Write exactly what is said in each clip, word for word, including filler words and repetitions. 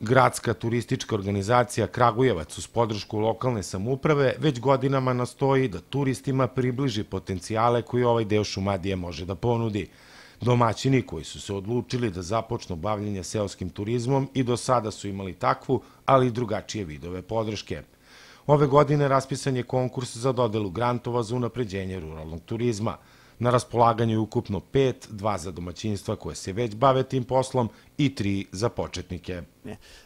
Gradska turistička organizacija Kragujevac uz podršku lokalne samouprave već godinama nastoji da turistima približi potencijale koje ovaj deo Šumadije može da ponudi. Domaćini koji su se odlučili da započnu bavljenje seoskim turizmom i do sada su imali takvu, ali i drugačije vidove podrške. Ove godine raspisan je konkurs za dodelu grantova za unapređenje ruralnog turizma. Na raspolaganju je ukupno pet, dva za domaćinstva koje se već bave tim poslom i tri za početnike.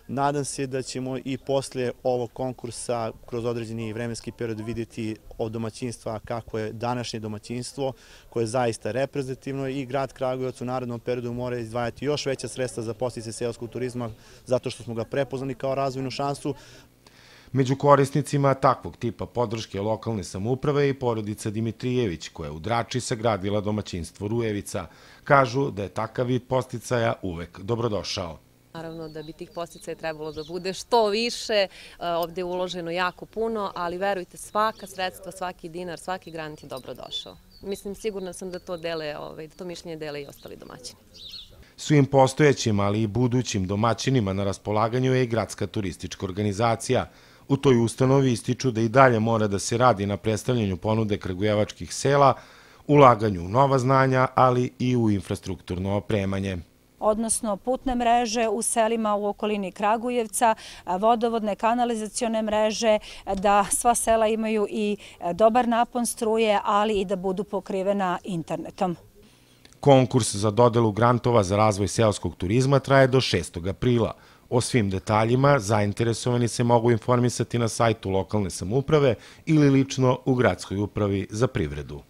Nadam se da ćemo i posle ovog konkursa kroz određeni vremenski period vidjeti od domaćinstva kako je današnje domaćinstvo, koje je zaista reprezentativno, i grad Kragujevac u narednom periodu mora izdvajati još veća sredstva za podsticaj seoskog turizma zato što smo ga prepoznali kao razvojnu šansu. Među korisnicima takvog tipa podrške lokalne samouprave je i porodica Dimitrijević, koja je u Drači sagradila domaćinstvo Rujevica. Kažu da je takav vid podsticaja uvek dobrodošao. Naravno da bi tih podsticaja trebalo da bude što više, ovdje je uloženo jako puno, ali verujte, svaka sredstva, svaki dinar, svaki grant je dobrodošao. Mislim, sigurna sam da to dele, da to mišljenje dele i ostali domaćini. Svim postojećim, ali i budućim domaćinima na raspolaganju je i Gradska turistička organizacija. U toj ustanovi ističu da i dalje mora da se radi na predstavljanju ponude kragujevačkih sela, ulaganju u nova znanja, ali i u infrastrukturno opremanje. Odnosno putne mreže u selima u okolini Kragujevca, vodovodne kanalizacione mreže, da sva sela imaju i dobar napon struje, ali i da budu pokrivena internetom. Konkurs za dodelu grantova za razvoj seoskog turizma traje do šestog aprila. O svim detaljima zainteresovani se mogu informisati na sajtu lokalne samouprave ili lično u Gradskoj upravi za privredu.